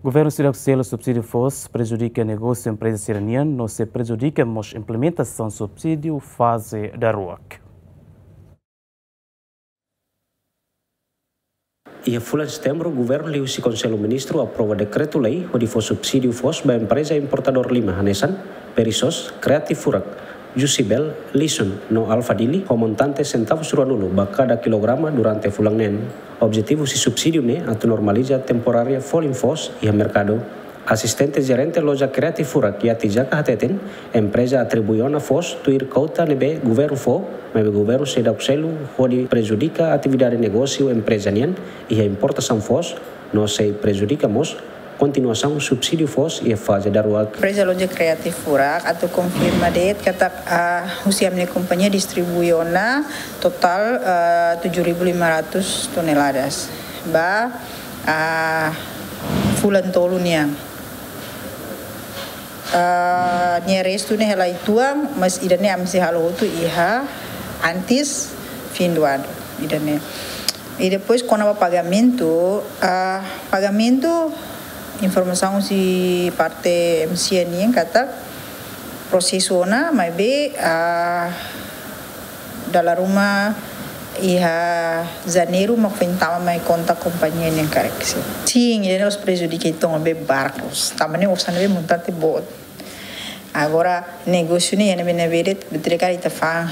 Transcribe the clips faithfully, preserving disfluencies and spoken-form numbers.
Governu seidauk selu subsídiu foos prejudika negósiu empreza sira-nian, no sei prejudika mós implementasaun subsídiu faze daruak. Iha fulan Setembru, Governu liuhusi Konsellu Ministru aprova dekretu-lei hodi fó subsídiu foos ba empreza importadór lima hanesan Perisos, Creative Furak, Jusibel, Lison no Alfadili, ho montante sentavus ruanulu ba kada kilograma durante fulan neen. Objetivu husi subsídiu ne'e atu normaliza temporária folin foos iha merkadu. Asistente Jerente Loja Creative Furak, Yati Jaka, hateten, empreza atribui ona foos tuir kouta ne'ebé Governu fó, maibé Governu seidauk selu hodi prejudika atividade negósiu empreza nian iha importasaun foos, no sei prejudika mós kontinuasaun subsídiu foos iha faze daruak. Empreza Loja Creative Furak atu konfirma de'it katak, ah, husi ami-nia kompañia distribui ona totál, ah, tujuh ribu lima ratus toneladas ba, ah, fulan tolu nian. Ah, nia restu ne'e hela uitoan, mas ida-ne'e ami sei halo hotu iha antes fim do ano. Ida-ne'e. I depois, kona-ba pagamentu, ah, pagamentu, informasaun husi parte M C N nian katak prosesu ona, maibé, ah, dala ruma iha Janeiru mak foin tama mai konta kompañia nian karik, sin. Sin, ida-ne'e la'ós prejudika uitoan, maibé barkus. Tanba ne'e osan ne'ebé montante boot. Agora, negósiu ne'e, iha ne'ebé-ne'ebé de'it, betul kan ita fa'an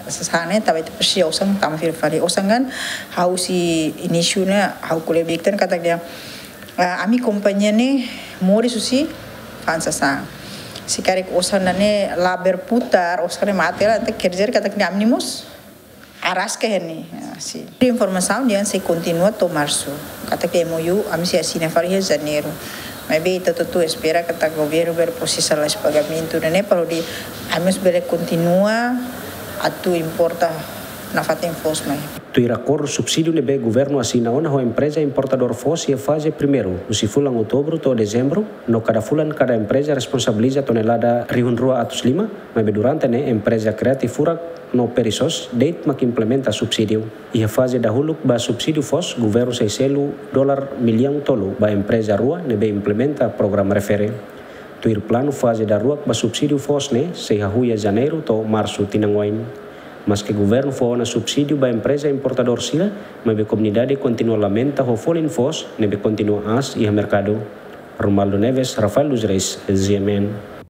sasán ne'e, tanba ita presiza osan tama fila fali. Osan kan, ha'u husi inísiu ne'e, ha'u ko'alia ba ita katak dehan, ah, ami kompañia ne'e moris husi fa'an sasán. Se karik osan ne'e la berputar, osan ne'e mate hela, entaun quer dizer katak ami mós araska iha ne'e, ah, sin. Informasaun dehan sei kontinua to'o Marsu. Katak M O U ami sei asina fali iha Janeiru. Maibé ita hotu-hotu espera katak Governu bele prosesa lalais pagamentu ne'e para hodi ami mós bele kontinua atu importa nafatin foos mai. Tuir akordu subsídiu ne'ebé Governu asina ona ho empreza importadór foos iha faze primeiru, husi fulan Outubru to'o Dezembru, no kada fulan kada empreza responsabiliza tonelada rihun rua atus lima, maibé durante ne'e empreza Creative Furak no Perisos de'it mak implementa subsídiu. Iha faze dahuluk ba subsídiu foos, Governu sei selu dolar millaun tolu ba empreza rua ne'ebé implementa programa refere. Tuir planu, faze daruak ba subsídiu foos ne'e sei hahú iha Janeiru to'o Marsu tinan oin. Maske Governu fó ona subsídiu ba empreza importadór sira, maibé komunidade kontinua lamenta ho folin foos ne'ebé kontinua aas iha merkadu. Romualdo Neves, Rafael dos Reis, G M N.